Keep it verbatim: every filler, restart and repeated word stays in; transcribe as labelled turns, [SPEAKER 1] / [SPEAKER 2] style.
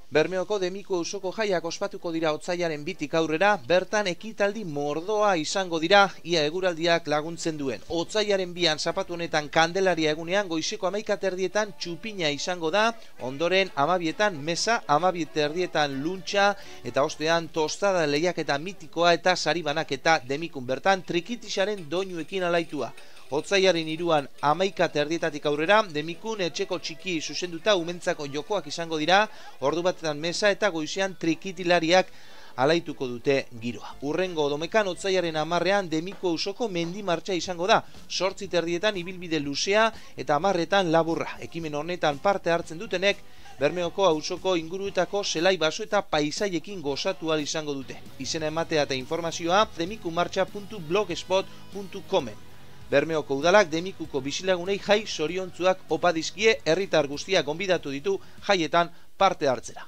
[SPEAKER 1] Bermeoko Demiku auzoko jaiak ospatuko dira otsailaren bitik aurrera, bertan ekitaldi mordoa izango dira, ia eguraldiak laguntzen duen. Otsailaren bian zapatu honetan Kandelaria egunean goizeko hamaika terdietan txupina izango da, ondoren hamabietan mesa, hamabi terdietan luntxa, eta ostean tostada lehiaketa mitikoa eta sari banaketa Demikun bertan trikitisaren doinuekin alaitua. Otsailaren hiruan hamaika terdietatik aurrera, Demikun etxeko txiki zuzenduta umentzako jokoak izango dira, ordu batetan mesa eta goizean trikitilariak alaituko dute giroa. Urrengo domekan otsailaren hamarrean Demiku auzoko mendi martxa izango da, zortzi terdietan ibilbide luzea eta hamarretan laburra. Ekimen honetan parte hartzen dutenek, Bermeoko auzoko inguruetako zelai baso eta paisaiekin gozatu ahal izango dute. Izena ematea eta informazioa demikumartxa puntu blogspot puntu comen. Bermeoko udalak Demikuko bizilagunei jai zoriontzuak opa dizkie, herritar guztiak gonbidatu ditu jaietan parte hartzera.